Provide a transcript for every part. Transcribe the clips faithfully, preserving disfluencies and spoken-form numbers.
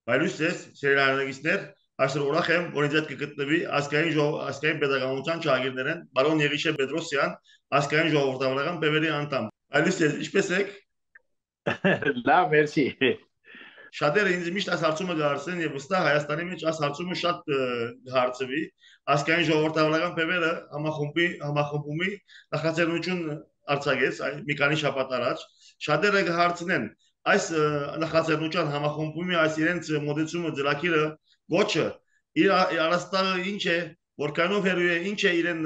Բայց ես սերիալագիստներ այսօր ուրախ եմ, որ ինձ հետ կգտնվի ազգային ժողով ազգային pedagogical ճագիրներեն բարոն Եղիշե Պետրոսյան, ազգային ժողովրդավարական բևերի անդամ։ Այլուց ես ինչպես եք։ Լավ, մերսի։ Շատերը ինձ միշտ այս հարցումը գարցեն եւ վստահ Հայաստանի մեջ այս հարցումը շատ հարցվի ազգային ժողովրդավարական բևերը համախմբի համախմբումի նախաձեռնություն արձակեց մի քանի շաբաթ առաջ շատերը կհարցնեն այս նախաձեռնության համախմբումի այս իրենց մոդեցումը ծրագիրը ոչը իր առաստաղը ինչ է որքանով հերու է ինչ է իրեն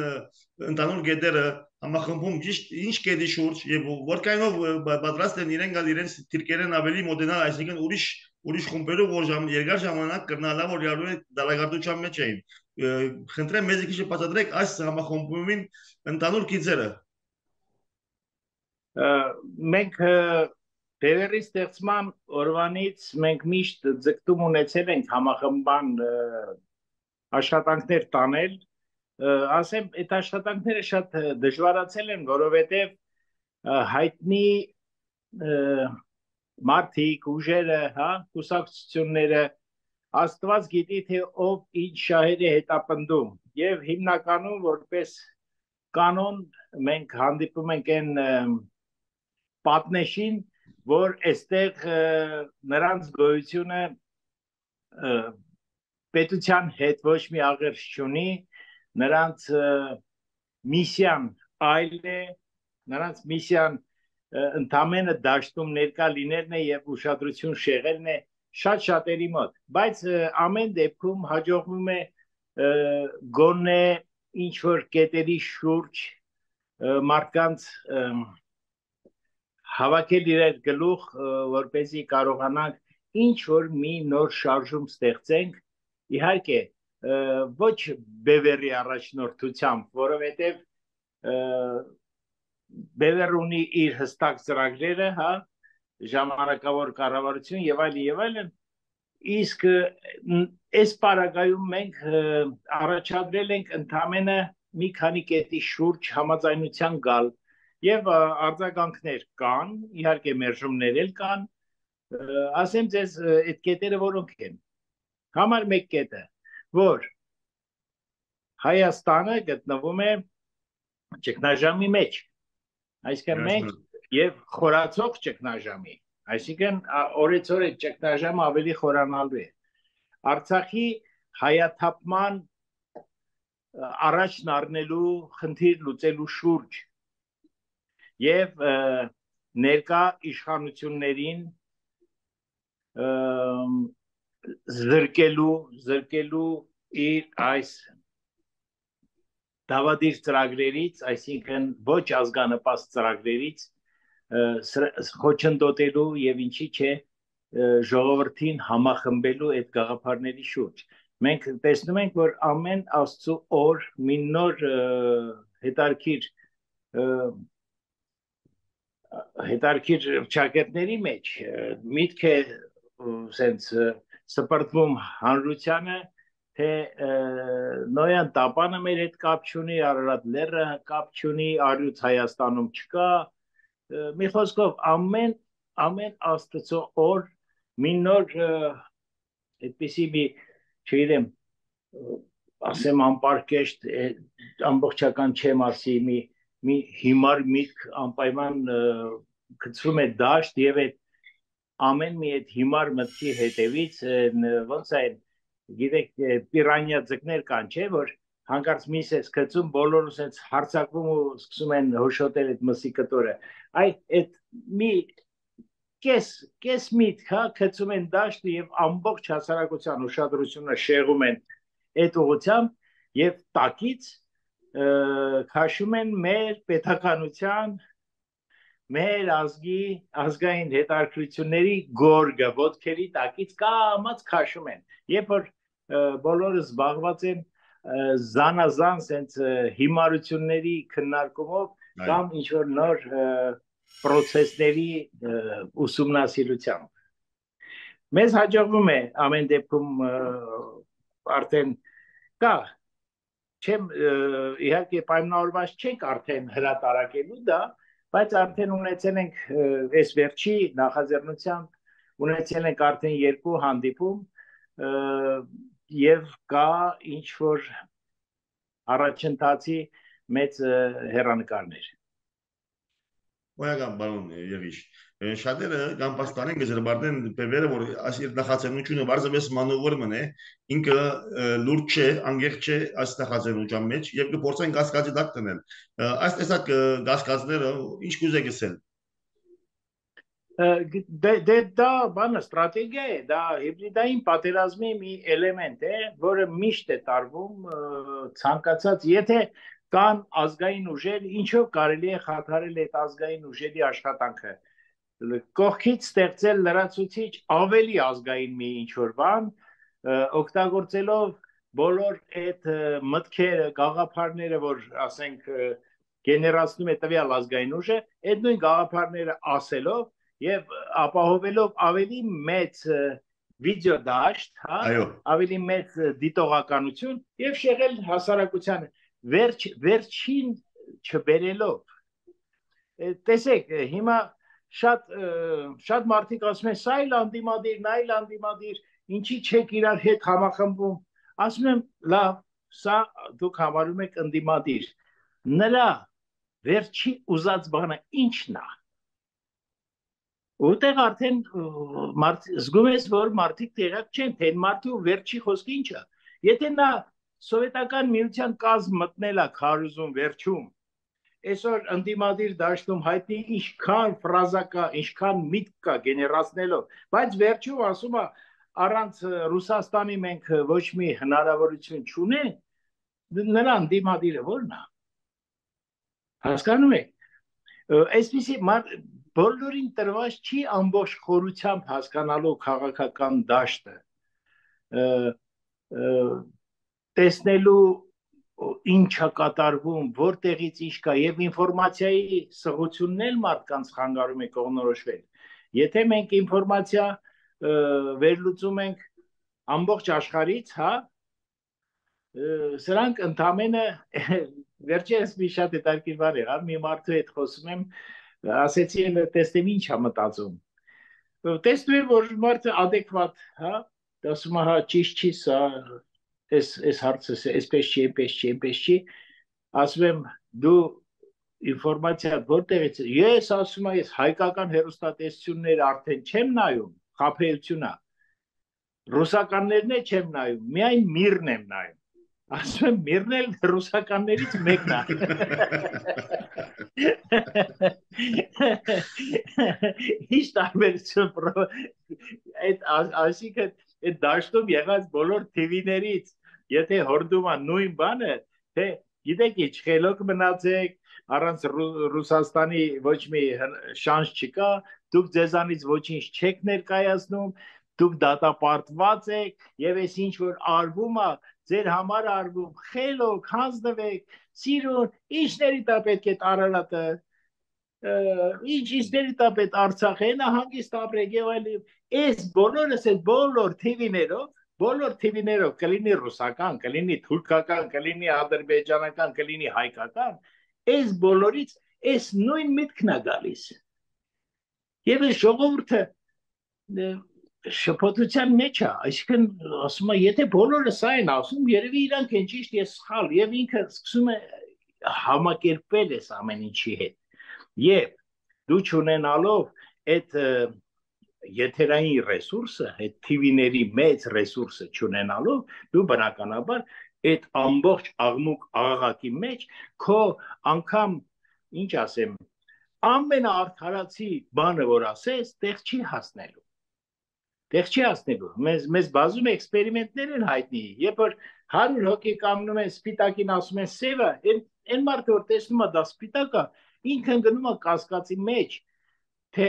ընդանուր գետերը համախմբում ճիշտ ինչ կետի շուրջ եւ որքանով պատրաստ են իրեն գալ իրենց թիրքերեն ավելի մոդենալ այսինքն ուրիշ ուրիշ խումբերով որ ժամ երկար ժամանակ կրնալա որ իրարու դալագարտության մեջ էին խնդրեմ մեզ քիչ բացատրեք այս համախմբումին ընդանուր գիծերը մենք Բևերի ստեղծման օրվանից մենք միշտ ձգտում ունեցել ենք համախմբան աշխատանքներ տանել ասեմ այդ աշխատանքները շատ դժվարացել են որովհետև հայտնի մարդիկ ուժերը հա կուսակցությունները Աստված գիտի թե ով ինչ շահեր է հետապնդում եւ հիմնականում որպես կանոն մենք հանդիպում ենք այն պատնեշին որ այստեղ նրանց գոյությունը պետության հետ ոչ մի աղերս չունի նրանց միսիան այլ է նրանց միսիան ընդամենը դաշտում ներկա լինելն է եւ ուշադրություն շեղելն է շատ շատերի մոտ բայց ամեն դեպքում հաջողվում է գոնե ինչ որ կետերի շուրջ մարդկանց հավաքել իրար գլուխ որպեսզի կարողանանք ինչ որ մի նոր շարժում ստեղծենք իհարկե ոչ բևերի առաջնորդությամբ որովհետև բևեր ունի իր հստակ ծրագրերը հա ժամանակավոր կառավարություն եւ այլ եւ այլն իսկ այս պարագայում մենք առաջադրել ենք ընդամենը մի քանի կետի շուրջ համաձայնության գալ եւ արձագանքներ կան իհարկե մերժումներ էլ կան ասեմ ձեզ այդ կետերը որոնք են համար մեկ կետը որ Հայաստանը գտնվում է ճգնաժամի մեջ այսինքն մենք եւ խորացող ճգնաժամի այսինքն օրեցօր այդ ճգնաժամը ավելի խորանալու է Արցախի հայաթափման առաջն առնելու խնդիր լուծելու շուրջ եւ ներկա իշխանություններին զրկելու զրկելու իր այս դավադիր ծրագրերից, այսինքն ոչ ազգանպաստ ծրագրերից խոչընդոտելու եւ ինչի՞ չէ ժողովրդին համախմբելու այդ գաղափարների շուրջ։ Մենք տեսնում ենք, որ ամեն Աստծո օր մի նոր հետարքիր հետարքիր ճակերտների մեջ միտք է սենց սպրտվում հանրությանը թե նոյան տապանը մեր հետ կապ չունի, Արարատ լեռը կապ չունի, առյուծ Հայաստանում չկա, մի խոսքով ամեն ամեն Աստծո օր մի նոր այդպիսի մի չգիտեմ ասեմ անպարկեշտ ամբողջական չեմ ասի մի մի հիմար միտք անպայման գցվում է դաշտ եւ այդ ամեն մի այդ հիմար մտքի հետևից ոնց է գիտեք պիրանյա ձկներ կան չէ որ հանկարծ միս է սկսում բոլորը sense հարցակվում ու սկսում են հոշոտել այդ մսի կտորը այ այդ մի կես կես միտք հա գցում են դաշտը եւ ամբողջ հասարակության ուշադրությունը շեղում են այդ ուղղությամբ եւ տակից քաշում են մեր պետականության մեր ազգի ազգային հետաքրքրությունների գորգը ոտքերի տակից կամած քաշում են երբ որ բոլորը զբաղված են զանազան sense հիմարությունների քննարկումով կամ ինչ որ նոր process-ների ուսումնասիրությամբ մեզ հաջողվում է ամեն դեպքում արդեն կա չեմ իհարկե պայմանավորված չենք արդեն հրատարակելու դա բայց արդեն ունեցել ենք այս վերջի նախաձեռնությամբ ունեցել ենք արդեն երկու հանդիպում եւ կա ինչ որ առաջընթացի մեծ հեռանկարներ։ Ոյական բարոն Եղիշ, շատերը կամ պաստանեն գզրբարդեն պևերը, որ այս իր նախաձեռնությունը բարձրապես մանուվրման է, ինքը լուրջ չէ, անգեղ չէ այս նախաձեռնության մեջ եւ կփորձեն գասկածի տակ տնել։ Այս տեսակ գասկածները ինչ կուզե գսել։ Դե դա բանը ստրատեգիա է, դա հիբրիդային պատերազմի մի էլեմենտ է, որը միշտ է տարվում ցանկացած, եթե կան ազգային ուժեր, ինչով կարելի է խաթարել այդ ազգային ուժերի աշխատանքը։ Կողքից ստեղծել լրացուցիչ ավելի ազգային մի ինչ-որ բան, օգտագործելով բոլոր այդ մտքերը, գաղափարները, որ ասենք գեներացնում է տվյալ ազգային ուժը, այդ նույն գաղափարները ասելով եւ ապահովելով ավելի մեծ վիդեո դաշտ, հա, ավելի մեծ դիտողականություն եւ շեղել հասարակությանը վերջ վերջին չբերելով։ Տեսեք, հիմա շատ շատ մարդիկ ասում են սա էլ անդիմադիր, նա էլ անդիմադիր, ինչի չեք իրար հետ համախմբում։ Ասում եմ, լավ, սա դուք համարում եք անդիմադիր։ Նրա վերջի ուզած բանը ի՞նչն է։ Որտեղ արդեն զգում ես, որ մարդիկ տեղյակ չեն, թե մարդու վերջի խոսքը ինչ է։ Եթե նա սովետական միության կազմ մտնել է քարուզում վերջում, այսօր ընդդիմադիր դաշտում հայտնի ինչքան ֆրազա կա, ինչքան միտք կա գեներացնելով, բայց վերջում ասում է առանց Ռուսաստանի մենք ոչ մի հնարավորություն չունենք, նրա ընդդիմադիրը ո՞րն է։ Հասկանում եք։ Այսպիսի բոլորին տրված չի ամբողջ խորությամբ հասկանալու քաղաքական դաշտը, տեսնելու ինչ է կատարվում, որտեղից ինչ կա եւ ինֆորմացիայի սղությունն էլ մարդկանց խանգարում է կողմնորոշվել։ Եթե մենք ինֆորմացիա վերլուծում ենք ամբողջ աշխարհից, հա, սրանք ընդամենը վերջերս մի շատ հետաքրքիր բան եղավ, մի մարդու հետ խոսում եմ, ասեցի էլ տեսնեմ ինչ է մտածում։ Տեսնում եմ, որ մարդը adekvat, հա, ասում է, հա, ճիշտ չի սա, այս այս հարցը, այսպես չի, այնպես չի, այնպես չի, ասում եմ, դու ինֆորմացիա որտեղից է։ Ես ասում եմ, ես հայկական հեռուստատեսությունները արդեն չեմ նայում, խաբեություն է։ Ռուսականներն է չեմ նայում, միայն միրն եմ նայում։ Ասում եմ, միրն էլ ռուսականներից մեկն է։ Ինչ տարբերություն, այսինքն այդ դաշտում եղած բոլոր թիվիներից, եթե հորդում է նույն բանը, թե գիտեք ինչ, խելոք մնացեք, առանց Ռուսաստանի ոչ մի շանս չկա, դուք ձեզանից ոչինչ չեք ներկայացնում, դուք դատապարտված եք, եւ այս ինչ որ արվում է, ձեր համար արվում, խելոք, հանձնվեք, սիրուն, ինչների տա պետք է Արարատը, ինչ ինչների տա պետք Արցախը, նահանգիստ ապրեք եւ այլն, այս բոլորս այդ բոլոր թիվիներով, բոլոր թիվիներով կլինի ռուսական, կլինի թուրքական, կլինի ադրբեջանական, կլինի հայկական, այս բոլորից այս նույն միտքն է գալիս։ Եվ այս ժողովուրդը շփոթության մեջ է, այսինքն ասում է, եթե բոլորը սա են ասում, երևի իրանք են ճիշտ, ես սխալ, եւ ինքը սկսում է համակերպել այս ամեն ինչի հետ։ Եվ դու չունենալով այդ եթերային ռեսուրսը, այդ թիվիների մեծ ռեսուրսը չունենալով, դու բնականաբար այդ ամբողջ աղմուկ աղաղակի մեջ քո անգամ, ինչ ասեմ, ամենաարդարացի բանը, որ ասես, տեղ չի հասնելու։ Տեղ չի հասնելու։ Մեզ մեզ բազում էքսպերիմենտներ են հայտնի, երբ որ հարյուր հոգի կանգնում են սպիտակին ասում են սևը, այն մարդը որ տեսնում է դա սպիտակ է, ինքն գնում է կասկածի մեջ, թե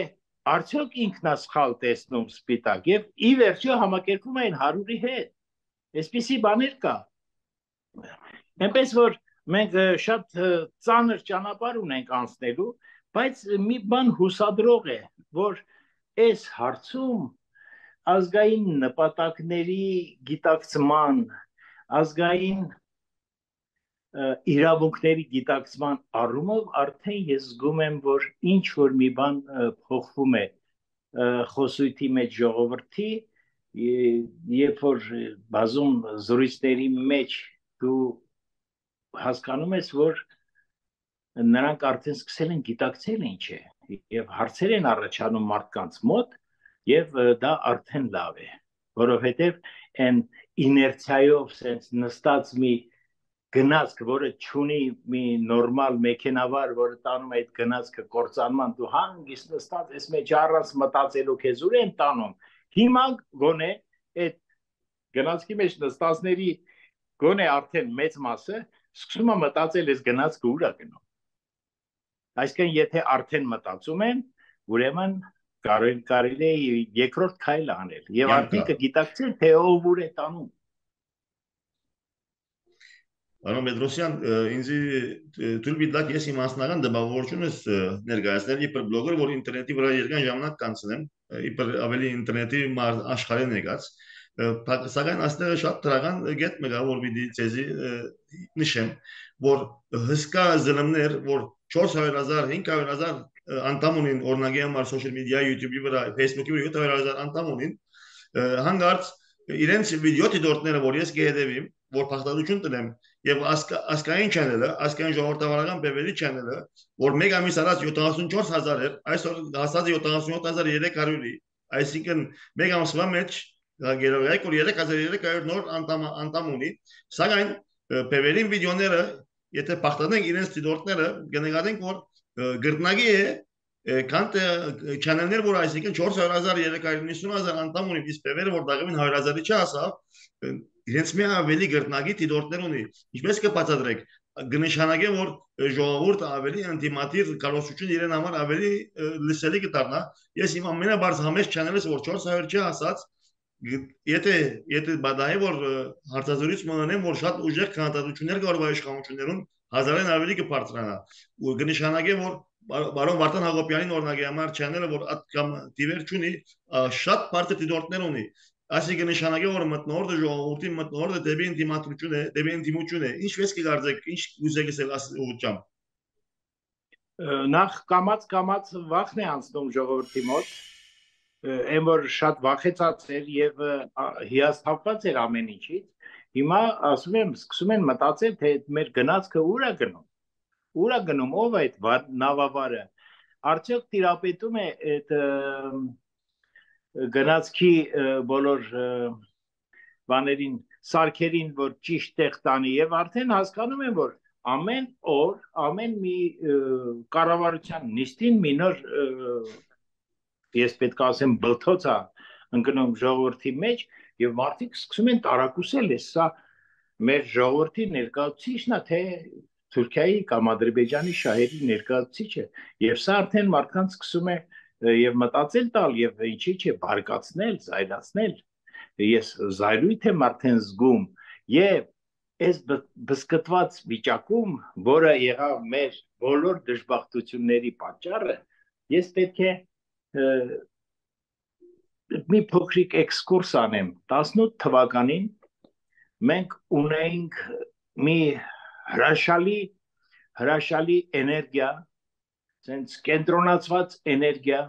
արդյոք ինքն է սխալ տեսնում սպիտակ եւ ի վերջո համակերպվում են հարյուրի հետ։ Այսպիսի բաներ կա։ Այնպես որ մենք շատ ծանր ճանապարհ ունենք անցնելու, բայց մի բան հուսադրող է, որ այս հարցում ազգային նպատակների գիտակցման, ազգային իրավունքների գիտակցման առումով արդեն ես զգում եմ, որ ինչ որ մի բան փոխվում է խոսույթի մեջ ժողովրդի, երբ որ բազում զրույցների մեջ դու հասկանում ես, որ նրանք արդեն սկսել են գիտակցել ինչ է, եւ հարցեր են առաջանում մարդկանց մոտ, եւ դա արդեն լավ է, որովհետեւ այն իներցիայով sense նստած մի գնացք, որը չունի մի նորմալ մեքենավար, որը տանում է այդ գնացքը կործանման, դու հանգիստ նստած ես մեջ առանց մտածելու քեզ ուր են տանում։ Հիմա գոնե այդ գնացքի մեջ նստածների գոնե արդեն մեծ մասը սկսում է մտածել ես գնացքը ուր է գնում։ Այսինքն եթե արդեն մտածում են, ուրեմն կարելի է երկրորդ քայլ անել եւ արդեն կգիտակցեն թե ով ուր է տանում։ Պարոն Պետրոսյան, ինձ թույլ տվեք ես իմ անձնական դպավորությունս ներկայացնել իբր բլոգեր, որ ինտերնետի վրա երկար ժամանակ կանցնեմ, իբր ավելի ինտերնետի աշխարհին եկած, սակայն այստեղ շատ դրական գետ մեկա, որ պիտի ցեզի նշեմ, որ հսկա զլմներ, որ չորս հարյուր հազար, հինգ հարյուր հազար անդամ ունին օրնագի համար սոցիալ մեդիա, YouTube-ի վրա, Facebook-ի վրա յոթ հարյուր հազար անդամ ունին, հանգարց իրենց վիդեո դիտորդները, որ ես կհետևեմ, որ փախտadություն տնեմ եւ ասկային չանելը, ասկային ժողովրդավարական բևերի չանելը, որ մեկ ամիս առաջ յոթանասունչորս հազար էր, այսօր հասած է յոթանասունյոթ հազար երեք հարյուրի, այսինքն մեկ ամսվա մեջ գերոյակ որ երեք հազար երեք հարյուր նոր անդամ անդամ ունի, սակայն բևերին վիդեոները, եթե փախտանենք իրենց դիտորդները, կնկատենք, որ գրտնագի է Քանտ չանելներ, որ այսինքն չորս հարյուր հազար երեք հարյուր նվսուն հազար անդամ ունի, իսկ բևերը, որ դաղմին հարյուր հազարի չհասավ, իրենց մի ավելի գրտնագի դիտորդներ ունի, ինչպես կբացատրեք, կնշանակե, որ ժողովուրդը ավելի անտիմատիվ կարողություն իրեն համար ավելի լսելի կդառնա, ես իմ ամենաբարձ համեստ չանելս, որ չորս հարյուր չհասած, եթե եթե բադահի որ հարցազրույց մնանեմ, որ շատ ուժեղ քննադատություններ կար իշխանություններում, հազարեն ավելի կբարձրանա, ու կնշանակե, որ Բարոն Վարդան Հակոբյանին օրինակի համար չանելը, որ կամ դիվեր չունի, շատ բարձր դիտորդներ ունի, այսինքն նշանակե, որ մտնորդը ժողովրդի մտնորդը դեպի ինտիմատություն է, դեպի ինտիմություն է, ինչպես կգարձեք, ինչ ուզեք ասել այս ուղղությամբ։ Նախ կամած կամած վախն է անցնում ժողովրդի մոտ, այն որ շատ վախեցած էր եւ հիասթափված էր ամեն ինչից, հիմա ասում եմ, սկսում են մտածել, թե մեր գնացքը ուր է գնում։ Ուր է գնում, ով է այդ նավավարը, արդյոք տիրապետում է այդ գնացքի բոլոր բաներին, սարքերին, որ ճիշտ տեղ տանի եւ արդեն հասկանում են, որ ամեն օր, ամեն մի կառավարության նիստին մի նոր, ես պետք է ասեմ, բլթոց է ընկնում ժողովրդի մեջ եւ մարդիկ սկսում են տարակուսել, սա մեր ժողովրդի ներկայացուցիչն է, թե Թուրքիայի կամ Ադրբեջանի շահերի ներկայացուցիչը եւ սա արդեն մարդկանց սկսում է եւ մտածել տալ եւ ինչի՞ չէ բարկացնել, զայրացնել ես զայրույթ եմ արդեն զգում եւ այս բսկտված վիճակում, որը եղավ մեր բոլոր դժբախտությունների պատճառը, ես պետք է մի փոքրիկ էքսկուրս անեմ տասնութ թվականին մենք ունեինք մի հրաշալի հրաշալի էներգիա, sense կենտրոնացված էներգիա,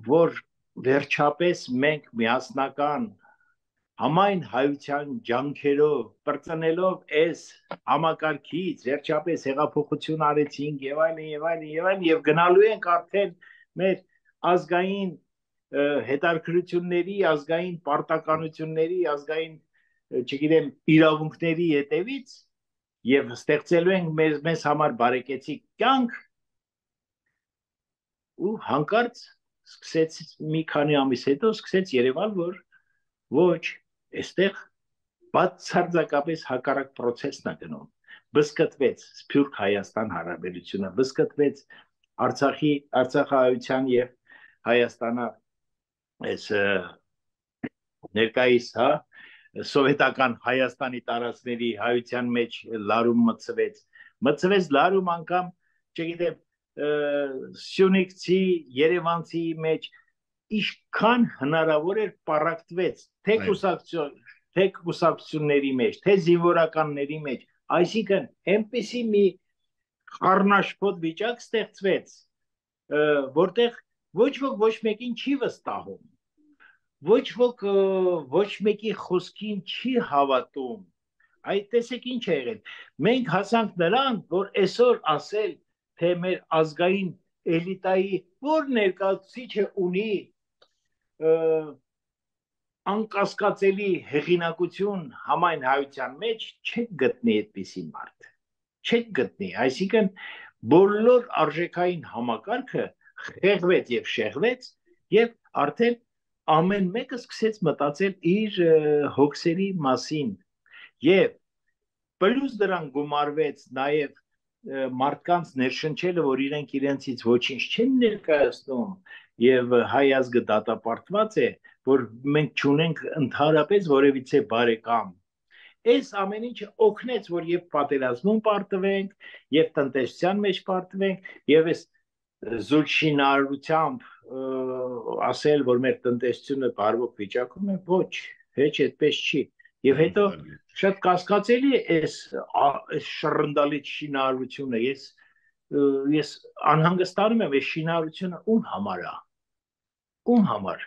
որ վերջապես մենք միասնական համայն հայության ջանքերով պրծնելով այս համակարգից վերջապես հեղափոխություն արեցինք եւ այլն եւ այլն եւ այլն եւ գնալու ենք արդեն մեր ազգային հետաքրքրությունների, ազգային պարտականությունների, ազգային չգիտեմ, իրավունքների հետևից եւ ստեղծելու ենք մեզ մեզ համար բարեկեցիկ կյանք ու հանկարծ սկսեց մի քանի ամիս հետո սկսեց երևալ, որ ոչ, այստեղ բացարձակապես հակառակ process-ն է գնում, բսկտվեց Սփյուռք Հայաստան հարաբերությունը, բսկտվեց Արցախի, Արցախահայության եւ Հայաստանը այս ներկայիս, հա սովետական Հայաստանի տարածքների հայության մեջ լարում մցվեց, մցվեց լարում անգամ, չգիտեմ, Սյունիքցի, Երևանցի մեջ ինչքան հնարավոր էր պարակտվեց, թե կուսակցություն, թե կուսակցությունների մեջ, թե զինվորականների մեջ, այսինքն այնպիսի մի խառնաշփոթ վիճակ ստեղծվեց, որտեղ ոչ ոք ոչ մեկին չի վստահում, ոչ ոք ոչ մեկի խոսքին չի հավատում։ Այդ տեսեք ինչ է եղել։ Մենք հասանք նրան, որ այսօր ասել, թե մեր ազգային էլիտայի որ ներկայացուցիչը ունի անկասկածելի հեղինակություն համայն հայության մեջ, չեք գտնի այդպիսի մարդ։ Չեք գտնի, այսինքն բոլոր արժեքային համակարգը խեղվեց եւ շեղվեց եւ արդեն ամեն մեկը սկսեց մտածել իր հոգսերի մասին եւ պլյուս դրան գումարվեց նաեւ մարդկանց ներշնչելը, որ իրենք իրենցից ոչինչ չեն ներկայացնում եւ հայ ազգը դատապարտված է, որ մենք չունենք ընդհանրապես որևիցե բարեկամ։ Այս ամեն ինչը օգնեց, որ եւ պատերազմում պարտվենք, եւ տնտեսության մեջ պարտվենք, եւ այս զուլշինարությամբ ասել, որ մեր տնտեսությունը բարվոք վիճակում է, ոչ, հեչ այդպես չի։ Եվ հետո շատ կասկածելի է այս շռնդալի շինարարությունը, ես ես անհանգստանում եմ, այս շինարարությունը ում համար է, ում համար։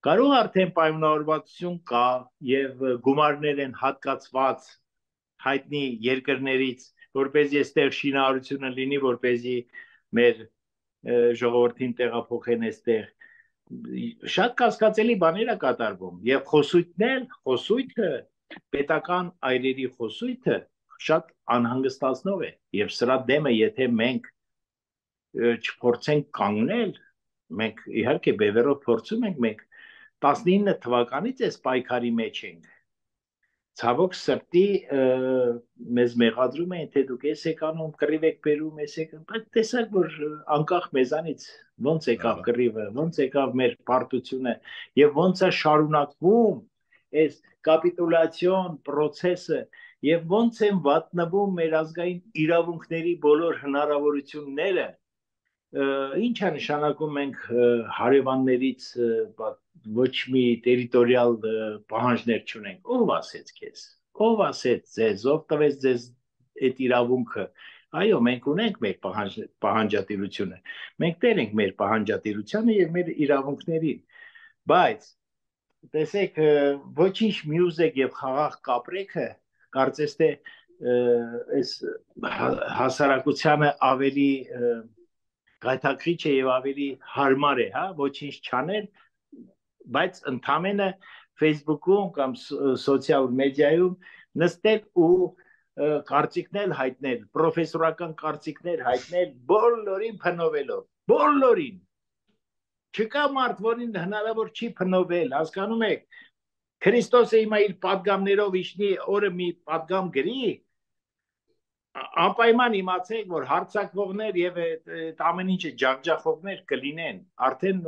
Կարող արդեն պայմանավորվածություն կա եւ գումարներ են հատկացված հայտնի երկրներից, որպեսզի այստեղ շինարարությունը լինի, որպեսզի մեր ժողովրդին տեղափոխեն այստեղ։ Շատ կասկածելի բաներ է կատարվում եւ խոսույթն էլ, խոսույթը, պետական այրերի խոսույթը շատ անհանգստացնող է եւ սրա դեմը եթե մենք չփորձենք կանգնել, մենք իհարկե բևեռով փորձում ենք, մենք տասնինը թվականից այս պայքարի մեջ ենք։ Ցավոք սրտի մեզ մեղադրում են, թե դուք ես եք անում, կռիվ եք բերում, ես եք, բայց տեսակ որ անկախ մեզանից ոնց եկավ կռիվը, ոնց եկավ մեր պարտությունը եւ ոնց է շարունակվում այս կապիտուլյացիոն process-ը եւ ոնց են վատնվում մեր ազգային իրավունքների բոլոր հնարավորությունները, ինչ է նշանակում մենք հարևաններից ոչ մի տերիտորիալ պահանջներ չունենք, ով ասեց քեզ, ով ասեց ձեզ, ով տվեց ձեզ այդ իրավունքը, այո, մենք ունենք մեր պահանջատիրությունը, մենք տեր ենք մեր պահանջատիրությանը եւ մեր իրավունքներին, բայց տեսեք, ոչինչ մյուզիկ եւ խաղաղ կապրեքը, կարծես թե այս հասարակությանը ավելի գայթակղիչ է եւ ավելի հարմար է, հա, ոչինչ չանել, բայց ընդամենը Facebook-ում կամ սոցիալ մեդիայում նստել ու կարծիքներ հայտնել, պրոֆեսորական կարծիքներ հայտնել, բոլորին փնովելով, բոլորին։ Չկա մարդ, որին հնարավոր չի փնովել, հասկանում եք, Քրիստոսը հիմա իր պատգամներով իջնի օրը մի պատգամ գրի, անպայման իմացեք, որ հարցակվողներ եւ այդ ամեն ինչը ջախջախողներ կլինեն, արդեն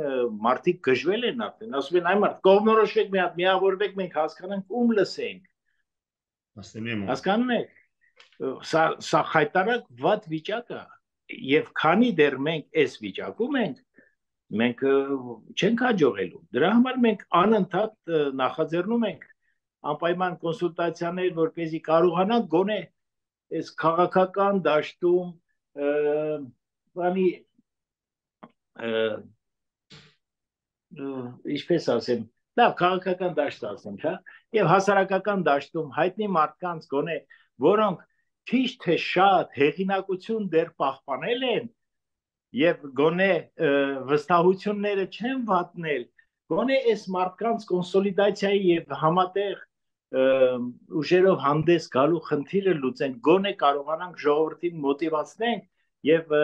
մարդիկ գժվել են արդեն, ասում են այ մարդ, կողմնորոշվեք մի հատ, միավորվեք, մենք հասկանանք ում լսենք։ Հասկանում եք, սա սա խայտարակ վատ վիճակ է, եւ քանի դեռ մենք այս վիճակում ենք, մենք չենք հաջողելու։ Դրա համար մենք անընդհատ նախաձեռնում ենք անպայման կոնսուլտացիաներ, որպեսզի կարողանանք գոնե այս քաղաքական դաշտում բանի ինչպես ասեմ, լավ քաղաքական դաշտ ասեմ, հա, եւ հասարակական դաշտում հայտնի մարդկանց գոնե, որոնք քիչ թե շատ հեղինակություն դեռ պահպանել են եւ գոնե վստահությունները չեն վատնել, գոնե այս մարդկանց կոնսոլիդացիայի եւ համատեղ ուժերով հանդես գալու խնդիրը լուծենք, գոնե կարողանանք ժողովրդին մոտիվացնենք եւ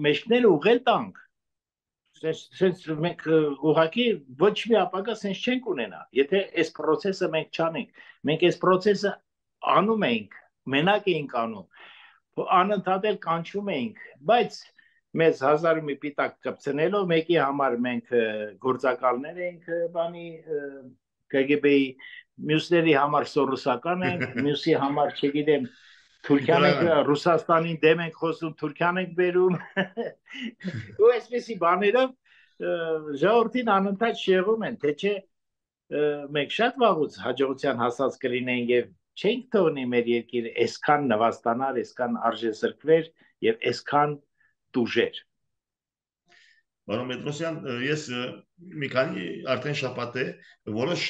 մեջքները ուղղել տանք։ Սենց մենք ուղղակի ոչ մի ապագա սենց չենք ունենա, եթե այս process-ը մենք չանենք, մենք այս process-ը անում ենք, մենակ էինք անում, անընդհատ էլ կանչում էինք, բայց մեզ հազար մի պիտակ կպցնելով, մեկի համար մենք գործակալներ էինք բանի K G B-ի, մյուսների համար սորոսական ենք, մյուսի համար չգիտեմ, Թուրքիան ենք, Ռուսաստանին դեմ ենք խոսում, Թուրքիան ենք բերում, ու այսպեսի բաներով ժողովրդին անընդհատ շեղում են, թե չէ մենք շատ վաղուց հաջողության հասած կլինենք եւ չենք թողնի մեր երկիրը այսքան նվաստանար, այսքան արժեզրկվեր եւ այսքան տուժեր։ Պարոն Պետրոսյան, ես մի քանի արդեն շաբաթ է որոշ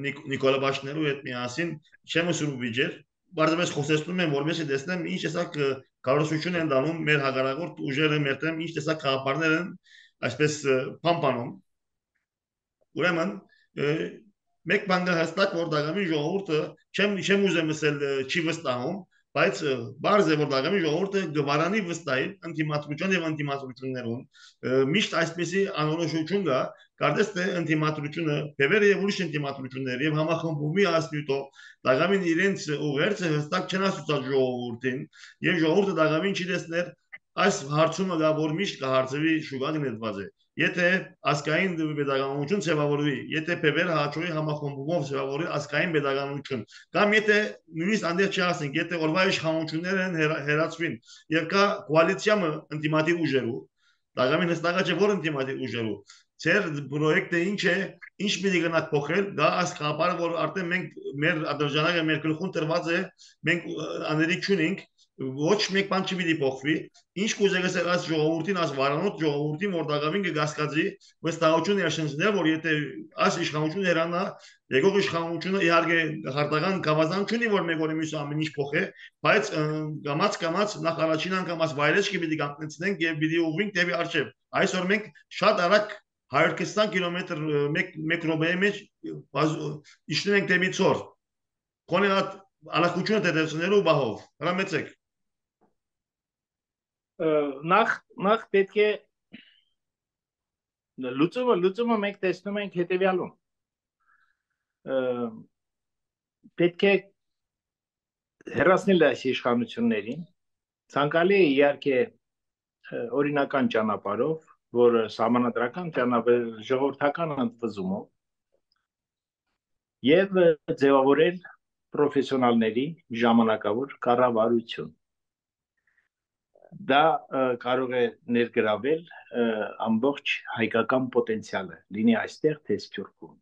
Նիկոլաբաշներու հետ միասին չեմ ուսում վիճեր, բարձրապես խոսեցնում եմ, որովհետեւ տեսնեմ ինչ տեսակ կառուցություն են դանում մեր հագարակորդ ուժերը մեր դեմ, ինչ տեսակ խաղապարներ են այսպես փամփանում։ Ուրեմն մեկ բան կա հստակ, որ դագամի ժողովուրդը չեմ չեմ ուզեմ ասել չի վստահում, բայց բարձ է որ դագամի ժողովուրդը գվարանի վստահի անտիմատրություն եւ անտիմատրություններուն միշտ այսպեսի անորոշություն կա, կարծես թե անտիմատրությունը բևերը եւ ուրիշ անտիմատրություններ եւ համախմբումի ասնյութով դագամին իրենց ուղերձը հստակ չեն ասուցած ժողովուրդին եւ ժողովուրդը դագամին չի տեսներ այս հարցումը գա որ միշտ կհարցվի շուկան ներված է Եթե ասկային pedagogiություն ձևավորվի, եթե Փեբերը հաճույի համախմբումով ձևավորի ասկային pedagogiություն, կամ եթե նույնիսկ անդեր չասենք, եթե օրվա իշխանությունները հերացվին եւ կա կոալիցիա ինտիմատիվ ուժերու, դագամին հստակա չէ որ ինտիմատիվ ուժերու, ձեր պրոյեկտը ինչ է, ինչ պիտի գնաք փոխել, դա այս խաղապարը որ արդեն մենք մեր ադրժանակը մեր գլխուն տրված է, մենք աներիկ չունենք ոչ մեկ բան չպիտի փոխվի, ինչ կուզեք ասել այս ժողովրդին, այս վարանոտ ժողովրդին, որ դակամին կգասկածի, վստահություն ներշնչներ, որ եթե այս իշխանությունը հեռանա, եկող իշխանությունը իհարկե հարտական գավազան չունի, որ մեկ օրի մյուսը ամեն ինչ փոխե, բայց գամած գամած նախ առաջին անգամ այս վայրեջքը պիտի կանգնեցնենք եւ պիտի ուղղենք դեպի արժեվ։ Այսօր մենք շատ արագ հարյուր քսան կիլոմետր մեկ րոպեի մեջ իջնում ենք դեպի ծոր։ Քոնե հատ ալակությունը դերեցնելու բահով։ Հրամեցեք։ Նախ նախ պետք է լուծումը լուծումը մենք տեսնում ենք հետեւյալում պետք է հեռացնել այս իշխանություններին ցանկալի է իհարկե օրինական ճանապարհով որ համանadrական ճանապարհ ժողովրդական ընդվզումով եւ ձևավորել պրոֆեսիոնալների ժամանակավոր կառավարություն դա կարող է ներգրավել ամբողջ հայկական պոտենցիալը լինի այստեղ թե Սփյուռքում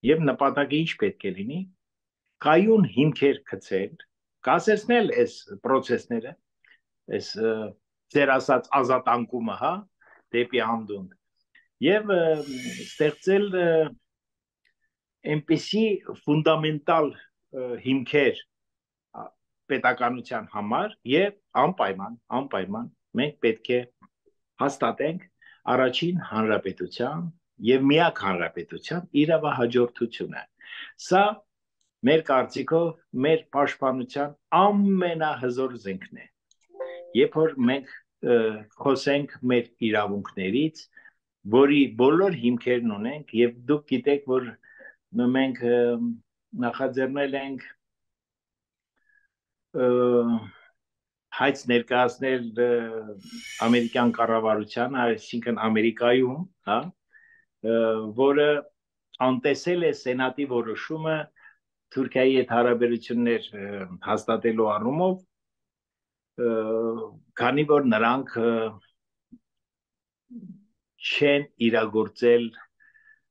եւ նպատակը ինչ պետք է լինի կայուն հիմքեր գցել կասեցնել այս process-ները այս ձեր ասած ազատանկումը հա դեպի անդունդ եւ ստեղծել այնպիսի ֆունդամենտալ հիմքեր պետականության համար եւ անպայման անպայման մենք պետք է հաստատենք առաջին հանրապետության եւ միակ հանրապետության իրավահաջորդությունը սա մեր կարծիքով մեր պաշտպանության ամենահզոր զենքն է երբ որ մենք խոսենք մեր իրավունքներից որի բոլոր հիմքերն ունենք եւ դուք գիտեք որ մենք նախաձեռնել ենք հայց ներկայացնել ամերիկյան կառավարության, այսինքն Ամերիկայում, հա, որը անտեսել է սենատի որոշումը Թուրքիայի հետ հարաբերություններ հաստատելու առումով, քանի որ նրանք չեն իրագործել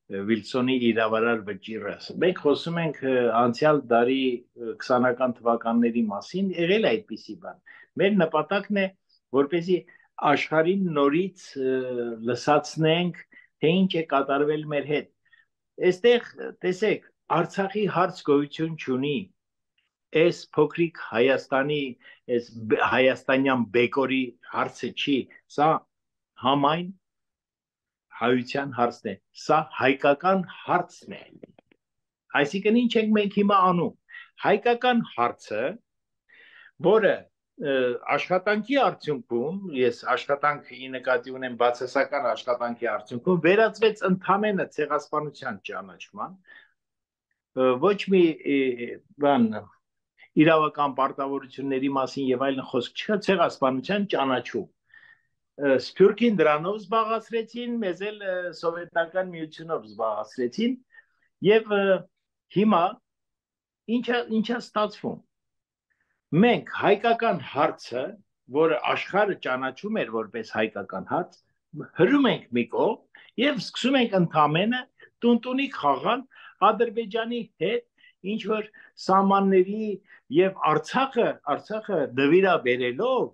Վիլսոնի իրավարար վճիռը։ Մենք խոսում ենք անցյալ դարի քսանական թվականների մասին, եղել է այդպիսի բան։ Մեր նպատակն է, որպեսզի աշխարհին նորից լսացնենք, թե ինչ է կատարվել մեր հետ։ Այստեղ տեսեք, Արցախի հարց գոյություն չունի։ Այս փոքրիկ Հայաստանի, այս հայաստանյան բեկորի հարցը չի, սա համայն հայության հարցն է, սա հայկական հարցն է, այսինքն ինչ ենք մենք հիմա անում, հայկական հարցը, որը աշխատանքի արդյունքում, ես աշխատանքի նկատի ունեմ բացասական աշխատանքի արդյունքում, վերածվեց ընդամենը ցեղասպանության ճանաչման, ոչ մի բան իրավական պարտավորությունների մասին եւ այլն խոսք չկա, ցեղասպանության ճանաչում Սփյուռքին դրանով զբաղացրեցին, մեզ էլ սովետական միությունով զբաղացրեցին եւ հիմա ինչա ինչա ստացվում մենք հայկական հարցը, որը աշխարհը ճանաչում էր որպես հայկական հարց, հրում ենք մի կողմ եւ սկսում ենք ընդամենը տունտունի խաղալ Ադրբեջանի հետ, ինչ որ սահմանների եւ Արցախը, Արցախը նվիրաբերելով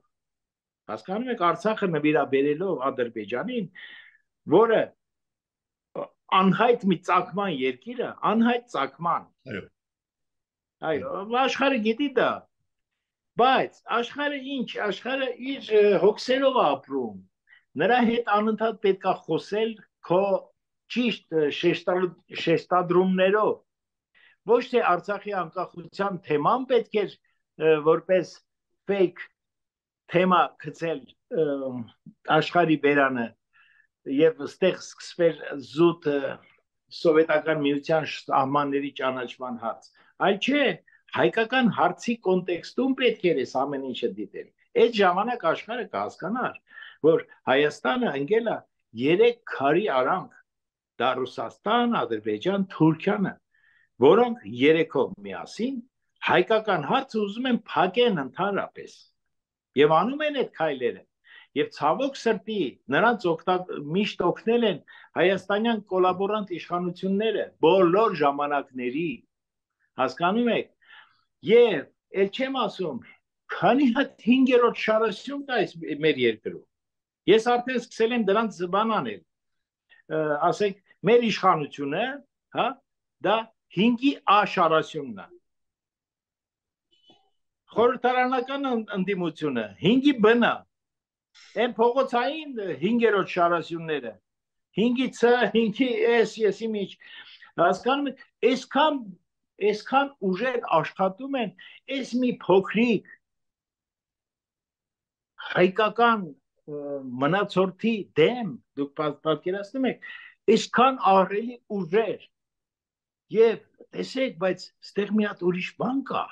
Հասկանում եք Արցախը նվիրաբերելով Ադրբեջանին որը անհայտ մի ծագման երկիրը, անհայտ ծագման։ Այո։ Այո, աշխարհը գիտի դա։ Բայց աշխարհը ինչ, աշխարհը իր հոգսերով է ապրում։ Նրա հետ անընդհատ պետք է խոսել քո ճիշտ շեշտադրումներով։ Ոչ թե Արցախի անկախության թեման պետք է որպես fake թեմա գցել աշխարհի բերանը եւ ստեղ սկսվել զուտ սովետական միության սահմանների ճանաչման հարց, այլ չէ, հայկական հարցի կոնտեքստում պետք է այս ամեն ինչը դիտել։ Այդ ժամանակ աշխարհը կհասկանար, որ Հայաստանը ընկել է երեք քարի արանք՝ դա Ռուսաստան, Ադրբեջան, Թուրքիանը, որոնք երեքով միասին հայկական հարցը ուզում են փակեն ընդհանրապես եւ անում են այդ քայլերը։ Եվ ցավոք սրտի նրանց միշտ օգնել են հայաստանյան կոլաբորանտ իշխանությունները բոլոր ժամանակների, հասկանում եք։ Եվ ել չեմ ասում, քանի հատ հինգերորդ շարասյուն կա մեր երկրում։ Ես արդեն սկսել եմ դրանց բան անել, ասենք մեր իշխանությունը, հա, դա հինգի A շարասյունն է։ Խորհրդարանական ընդդիմությունը հինգի B-ն է։ Այն փողոցային հինգերորդ շարասյունները, հինգի C, հինգի S, եսի միջ, հասկանում եք, այսքան այսքան ուժեր աշխատում են այս մի փոքրիկ հայկական մնացորդի դեմ, դուք պատկերացնում եք, այսքան ահռելի ուժեր եւ տեսեք, բայց ստեղ մի հատ ուրիշ բան կա,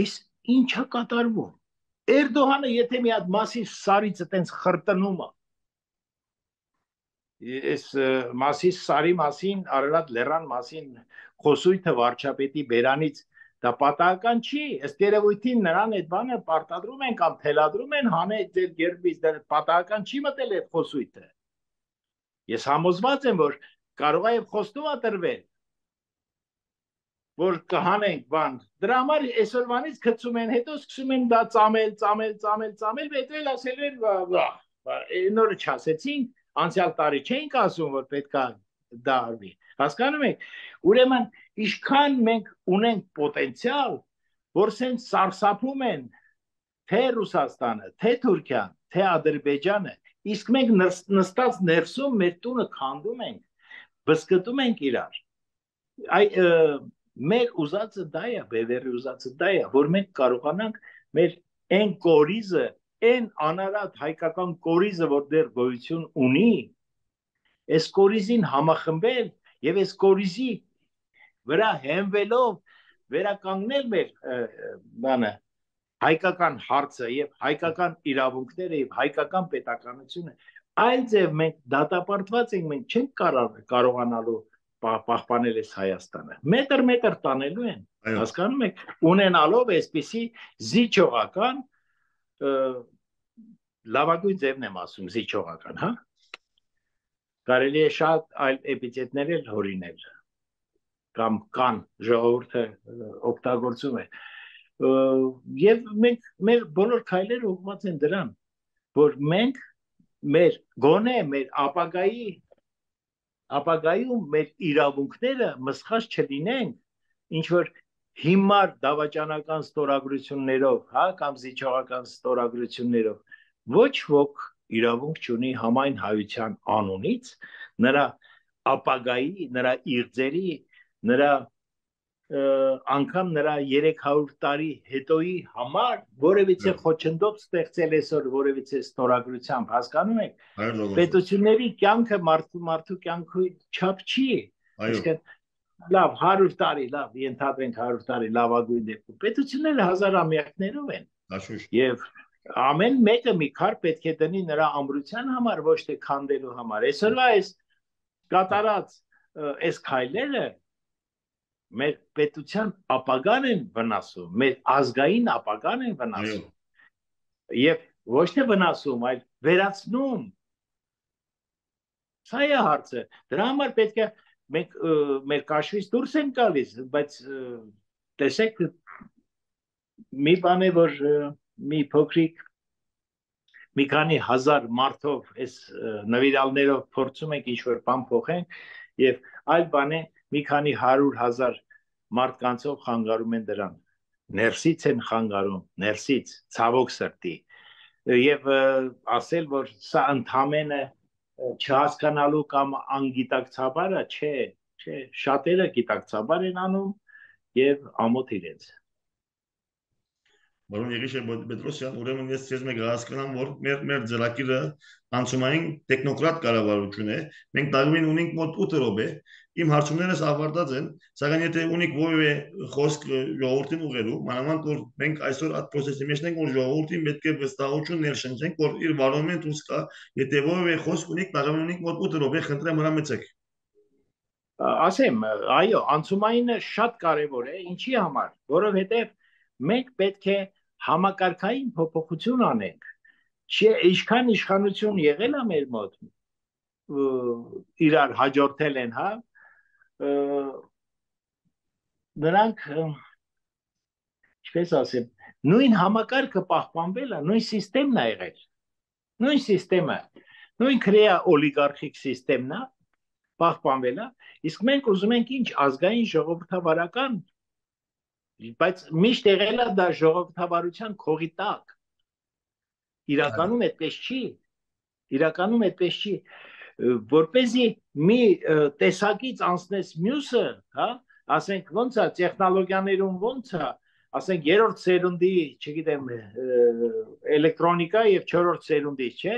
այս ինչա կատարվում։ Էրդողանը եթե մի հատ Մասիս Սարիցը տենց խրտնում է, այս Մասիս Սարի մասին, Արարատ լեռան մասին խոսույթը վարչապետի բերանից դա պատահական չի, ըստ երևույթին նրան այդ բանը պարտադրում են կամ թելադրում են հանել ձեր գերբից, դա պատահական չի մտել այդ խոսույթը։ Ես համոզված եմ, որ կարող է եւ խոստում է տրվել, որ կհանենք բան։ Դրա համար այսօրվանից գցում են, հետո սկսում են դա ծամել, ծամել, ծամել, ծամել, հետո էլ ասել են, նորը չասեցին, անցյալ տարի չէինք ասում, որ պետքա դա արվի։ Հասկանում եք, ուրեմն ինչքան մենք ունենք պոտենցիալ, որ սենց սարսափում են թե Ռուսաստանը, թե Թուրքիան, թե Ադրբեջանը, իսկ մենք նստած ներսում մեր տունը քանդում ենք, բսկտում ենք իրար։ Այ մեր ուզածը դա է, բևեռի ուզածը դա է, որ մենք կարողանանք մեր այն կորիզը, այն անարատ հայկական կորիզը, որ դեռ գոյություն ունի, այս կորիզին համախմբել եւ այս կորիզի վրա հենվելով վերականգնել մեր բանը հայկական հարցը եւ հայկական իրավունքները եւ հայկական պետականությունը, այլ ձև մենք դատապարտված ենք, մենք չենք կարողանալու պահպանել այս Հայաստանը։ Մետր-մետր տանելու են, հասկանում եք, ունենալով այսպիսի զիջողական, լավագույն ձևն եմ ասում, զիջողական, հա։ Կարելի է շատ այլ էպիթետներ էլ հորինել, կամ կան ժողովուրդը օգտագործում է։ Եվ մենք մեր բոլոր քայլերը ուղղված են դրան, որ մենք մեր գոնե մեր ապագայի ապագայում մեր իրավունքները մսխած չլինենք, ինչ որ հիմար դավաճանական ստորագրություններով, հա, կամ զիջողական ստորագրություններով, ոչ ոք իրավունք չունի համայն հայության անունից նրա ապագայի, նրա իղձերի, նրա անգամ նրա երեք հարյուր տարի հետոյի համար որևիցե խոչընդոտ ստեղծել այսօր որևիցե ստորագրությամբ, հասկանում եք, պետությունների կյանքը մարդու մարդու կյանքի չափ չի, իսկ լավ հարյուր տարի, լավ ենթադրենք հարյուր տարի լավագույն դեպքում, պետությունները հազարամյակներով են, եւ ամեն մեկը մի քար պետք է դնի նրա ամրության համար, ոչ թե քանդելու համար։ Այսօրվա այս կատարած այս քայլերը մեր պետության ապագան են վնասում, մեր ազգային ապագան են վնասում, եւ ոչ թե վնասում, այլ վերացնում։ Սա է հարցը, դրա համար պետք է մենք մեր կաշվից դուրս ենք գալիս, բայց տեսեք մի բան է, որ մի փոքրիկ մի քանի հազար մարդով այս նվիրալներով փորձում ենք ինչ-որ բան փոխենք եւ այլ բան է մի քանի հարյուր հազար մարդկանցով խանգարում են դրան ներսից են խանգարում ներսից ցավոք սրտի եւ ասել որ սա ընդամենը չհասկանալու կամ անգիտակցաբարը չէ չէ շատերը գիտակցաբար են անում եւ ամոթ իրենց Որոն Եղիշե Պետրոսյան, ուրեմն ես ցեզ մեկ հասկանամ, որ մեր մեր ծրագիրը անցումային տեխնոկրատ կառավարություն է։ Մենք դարումին ունենք մոտ ութ րոպե։ Իմ հարցումներս ավարտած են, սակայն եթե ունիք որևէ խոսք ժողովրդին ուղղելու, մանավանդ որ մենք այսօր այդ process-ի մեջ ենք, որ ժողովրդին պետք է վստահություն ներշնչենք, որ իր վարոմեն դուրս կա, եթե որևէ խոսք ունիք, դարումին ունիք մոտ ութ րոպե, խնդրեմ հրամեցեք։ Ասեմ, այո, անցումայինը շատ կարևոր է, ինչի համար, որովհետև մենք պետք է համակարգային փոփոխություն անենք։ Չէ, ինչքան իշխանություն եղել է մեր մոտ, իրար հաջորդել են, հա, նրանք, ինչպես ասեմ, նույն համակարգը պահպանվել է, նույն սիստեմն է եղել, նույն սիստեմը, նույն քրեա օլիգարխիկ սիստեմն է, պահպանվել է, իսկ մենք ուզում ենք ինչ ազգային ժողովրդավարական, բայց միշտ եղել է դա ժողովրդավարության քողի տակ, իրականում այդպես չի, իրականում այդպես չի, որպեսզի մի տեսակից անցնես մյուսը, հա, ասենք ոնց է տեխնոլոգիաներում ոնց է, ասենք երրորդ սերունդի, չգիտեմ, էլեկտրոնիկա եւ չորրորդ սերունդի, չէ,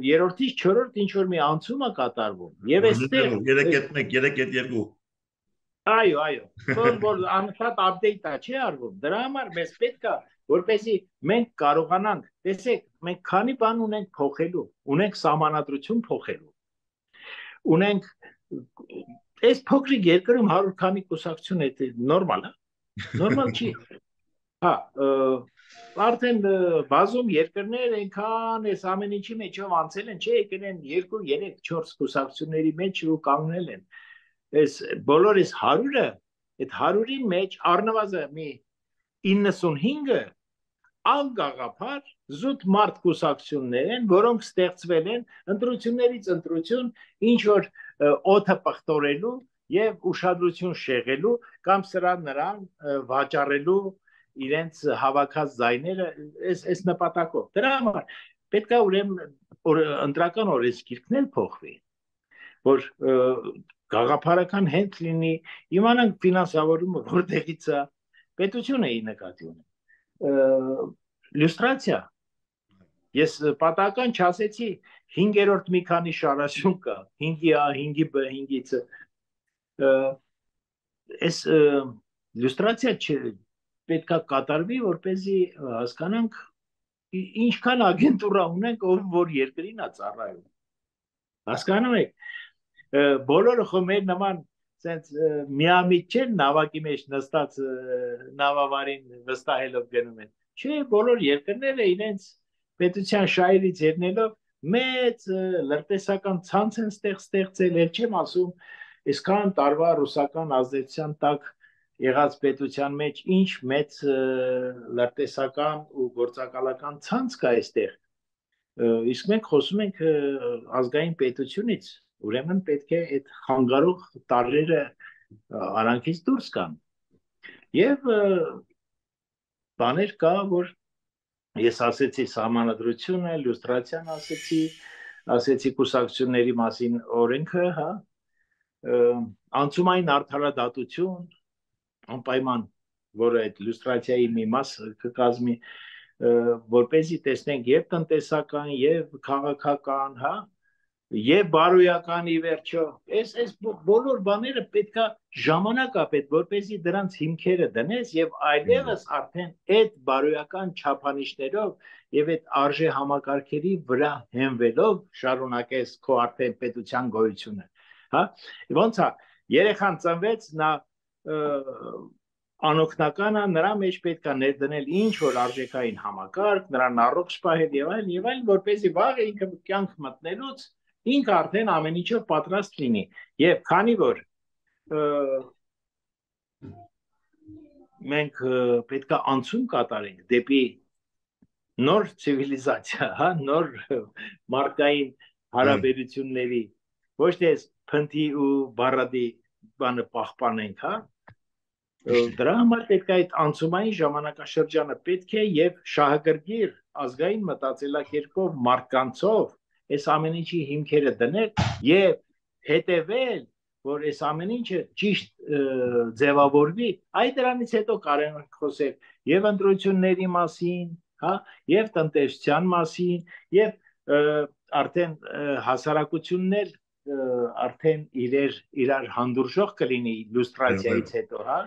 երրորդից չորրորդ ինչ որ մի անցում է կատարվում եւ այստեղ երեք կետ մեկ, երեք կետ երկու այո, այո, որ որ անընդհատ update-ա չի արվում, դրա համար մեզ պետք է որպեսզի մենք կարողանանք, տեսեք, մենք քանի բան ունենք փոխելու, ունենք սահմանադրություն փոխելու, ունենք այս փոքրիկ երկրում հարյուր քանի կուսակցություն է նորմալ է, նորմալ չի, հա, արդեն բազում երկրներ այնքան այս ամեն ինչի մեջով անցել են, չէ, եկել են երկու, երեք, չորս կուսակցությունների մեջ ու կանգնել են, այս բոլոր այս հարյուրը, այդ հարյուրի մեջ առնվազն մի իննսունհինգը անգաղափար զուտ մարդ կուսակցություններ են, որոնք ստեղծվել են ընտրություններից ընտրություն, ինչ որ օդը պղտորելու եւ ուշադրություն շեղելու կամ սրա նրան վաճառելու իրենց հավաքած զայները այս այս նպատակով։ Դրա համար պետք է ուրեմն ընտրական օրենսգիրքն էլ փոխվի, որ գաղափարական հենց լինի, իմանանք ֆինանսավորումը որտեղից է, պետությունը ի նկատի ունի։ Լյուստրացիա։ Ես պատահական չասեցի հինգերորդ մի քանի շարաշուն կա, հինգի A, հինգի B, հինգի C։ Այս լյուստրացիա պետք է կատարվի, որպեսզի հասկանանք ինչքան ագենտուրա ունենք, ով որ երկրին է ծառայում։ Հասկանում եք, բոլորը խո մեր նման sense միամիտ չեն նավակի մեջ նստած նավավարին վստահելով գնում են։ Չէ, բոլոր երկրները իրենց պետության շահերից ելնելով մեծ լրտեսական ցանց են ստեղծել, էլ չեմ ասում, այսքան տարվա ռուսական ազդեցության տակ եղած պետության մեջ ինչ մեծ լրտեսական ու գործակալական ցանց կա այստեղ։ Իսկ մենք խոսում ենք ազգային պետությունից, ուրեմն պետք է այդ խանգարող տարրերը արանքից դուրս գան։ Եվ բաներ կա, որ ես ասեցի սահմանադրությունը, լյուստրացիան ասեցի, ասեցի կուսակցությունների մասին օրենքը, հա, անցումային արդարադատություն, անպայման, որը այդ լյուստրացիայի մի մաս կկազմի, որպեսզի տեսնենք եւ տնտեսական, եւ քաղաքական, հա, եւ բարոյական ի վերջո, այս այս բոլոր բաները պետքա ժամանակ ապետ, որպեսզի դրանց հիմքերը դնես եւ այլևս արդեն այդ բարոյական չափանիշներով եւ այդ արժե համակարգերի վրա հենվելով շարունակես քո արդեն պետության գոյությունը, հա, ոնց է, երեխան ծնվեց, նա անօգնական է, նրա մեջ պետքա ներդնել ինչ որ արժեքային համակարգ, նրան առողջ պահել եւ այլն եւ այլն, որպեսզի վաղ ինքը կյանք մտնելուց ինքը արդեն ամեն ինչով պատրաստ լինի եւ քանի որ մենք պետք է անցում կատարենք դեպի նոր ցիվիլիզացիա, հա, նոր մարդկային հարաբերությունների ոչ թե փնթի ու բարադի բանը պահպանենք, հա։ Դրա համար պետք է այդ անցումային ժամանակաշրջանը պետք է եւ շահագրգիռ ազգային մտածելակերպով մարդկանցով այս ամեն ինչի հիմքերը դնել եւ հետեւել, որ այս ամեն ինչը ճիշտ ձևավորվի, այդ դրանից հետո կարող ենք խոսել եւ ընտրությունների մասին, հա, եւ տնտեսության մասին, եւ արդեն հասարակություններ արդեն իրեր իրար հանդուրժող կլինի իլյուստրացիայից հետո, հա,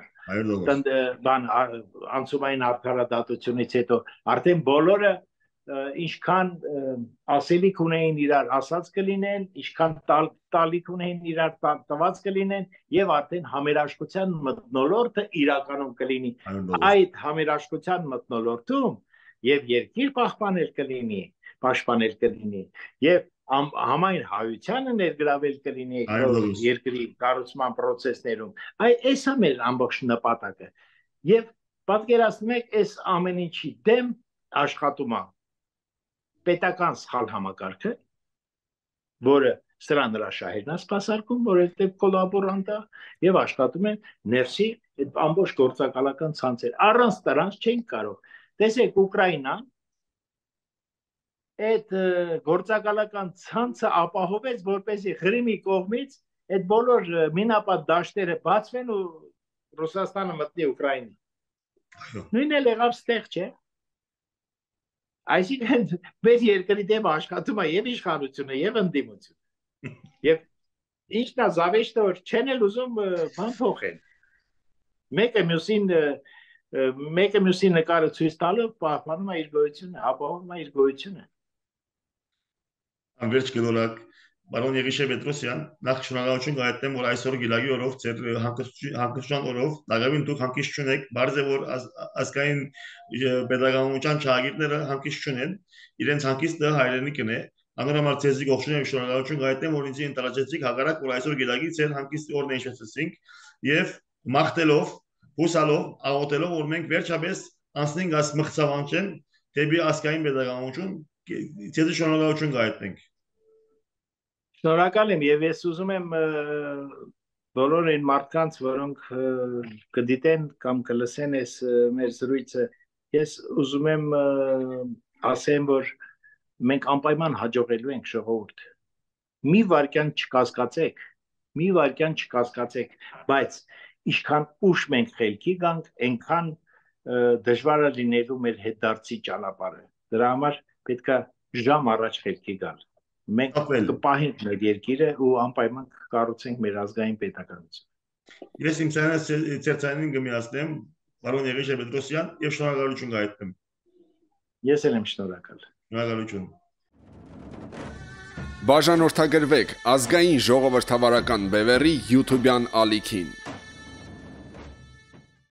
բան անցումային արդարադատությունից հետո արդեն բոլորը ինչքան ասելիք ունեին իրար ասած կլինեն, ինչքան տալիք ունեին իրար տված կլինեն եւ արդեն համերաշխության մթնոլորտը իրականում կլինի այդ համերաշխության մթնոլորտում եւ երկիր պահպանել կլինի, պաշտպանել կլինի եւ համայն հայությանը ներգրավել կլինի երկրի կառուցման process-ներում։ Այս է մեր ամբողջ նպատակը։ Եվ պատկերացնեք, այս ամեն ինչի դեմ աշխատում է պետական սխալ համակարգը, որը սրան նրա շահերն է սպասարկում, որովհետև կոլաբորանտ է, եւ աշխատում են ներսի այդ ամբողջ գործակալական ցանցեր։ Առանց դրանց չեն կարող։ Տեսեք, Ուկրաինան այդ գործակալական ցանցը ապահովեց, որպեսզի Ղրիմի կողմից այդ բոլոր մինապատ դաշտերը բացվեն ու Ռուսաստանը մտնի Ուկրաինա։ Նույնն էլ եղավ ստեղ, չէ։ Այսինքն մեր երկրի դեմ աշխատում է եւ իշխանությունը, եւ ընդդիմությունը։ Եվ ինչն է զավեշտը, որ չեն էլ ուզում բան փոխել։ Մեկը մյուսին մեկը մյուսին նկարը ցույց տալով պահպանում է իր գոյությունը, ապահովում է իր գոյությունը։ Անվերջ գնորակ Բարոն Եղիշե Պետրոսյան, նախ շնորհակալություն կհայտնեմ, որ այսօր գիլագի օրով, ձեր հանգստության օրով, դակավին դուք հանգիստ չունեք, բարձ է որ ազգային պետականության չհագիրները հանգիստ չունեն, իրենց հանգիստը հայրենիքն է, անորոմար ձեզի գողջուն եմ շնորհակալություն կհայտնեմ, որ ինձ ընտրացեցիք հակառակ, որ այսօր գիլագի ձեր հանգիստի օրն հիշեցինք եւ մաղթելով, հուսալով, աղոթելով, որ մենք վերջապես անցնենք այս մղձավանջեն դեպի ազգային պետականություն, ձեզի շնորհակալություն կհայտնենք։ Շնորհակալ եմ եւ ես ուզում եմ բոլոր այն մարդկանց, որոնք կդիտեն կամ կլսեն այս մեր զրույցը, ես ուզում եմ ասեմ, որ մենք անպայման հաջողելու ենք ժողովուրդ։ Մի վարքյան չկասկածեք, մի վարքյան չկասկածեք, բայց ինչքան ուշ մենք խելքի գանք, այնքան դժվար է լինելու մեր հետդարձի ճանապարհը։ Դրա համար պետք է ժամ առաջ խելքի գալ։ Մենք կպահենք մեր երկիրը ու անպայման կկառուցենք մեր ազգային պետականություն։ Ես իմ ցերցանին կմիացնեմ Բարոն Եղիշե Պետրոսյան եւ շնորհակալություն կհայտնեմ։ Ես էլ եմ շնորհակալ։ Շնորհակալություն։ Բաժանորդագրվեք ազգային ժողովրդավարական բևեռի YouTube-յան ալիքին։